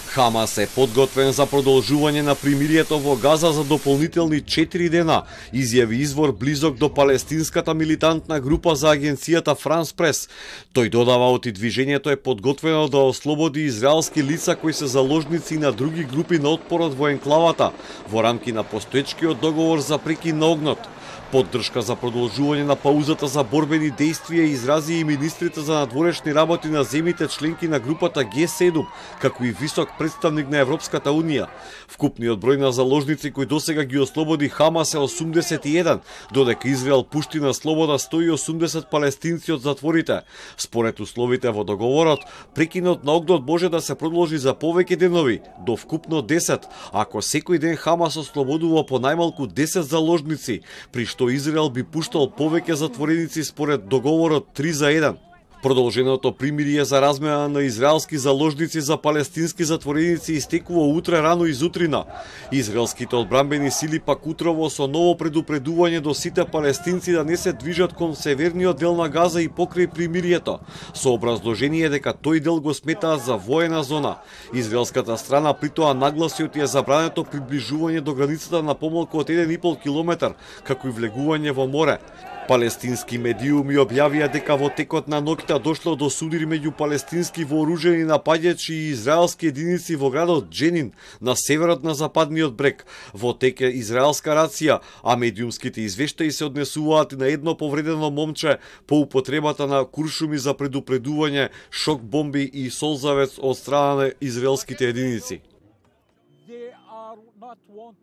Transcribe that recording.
Хамас е подготвен за продолжување на примирието во Газа за дополнителни 4 дена, изјави извор близок до палестинската милитантна група за агенцијата Франс Прес. Тој додава оти движењето е подготвено да ослободи израелски лица кои се заложници на други групи на отпорот во енклавата, во рамки на постоечкиот договор за прекин на огнот. Поддршка за продолжување на паузата за борбени дејствија изрази и министрите за надворешни работи на земјите членки на групата Г7, како и висок представник на Европската Унија. Вкупниот број на заложници кои досега ги ослободи Хамас е 81, додека Израел пушти на слобода 180 палестинци од затворите. Според условите во договорот, прекинот на огнот може да се продолжи за повеќе денови, до вкупно 10, ако секој ден Хамас ослободува по најмалку 10 заложници, при што Израел би пуштал повеќе затвореници според договорот 3-1. Продолженото примирие за размена на израелски заложници за палестински затвореници истекува утре рано изутрина. Израелските одбранбени сили пак утрово со ново предупредување до сите палестинци да не се движат кон северниот дел на Газа и покрај примирието, со образложение дека тој дел го сметаат за воена зона. Израелската страна притоа нагласи оти е забрането приближување до границата на помалку од 1,5 километар, како и влегување во море. Палестински медиуми објавија дека во текот на ноќта дошло до судири меѓу палестински вооружени напаѓачи и израелски единици во градот Дженин, на северот на западниот брег. Во тек е израелска рација, а медиумските извештаи се однесуваат на едно повредено момче по употребата на куршуми за предупредување, шок бомби и солзавец од страна на израелските единици.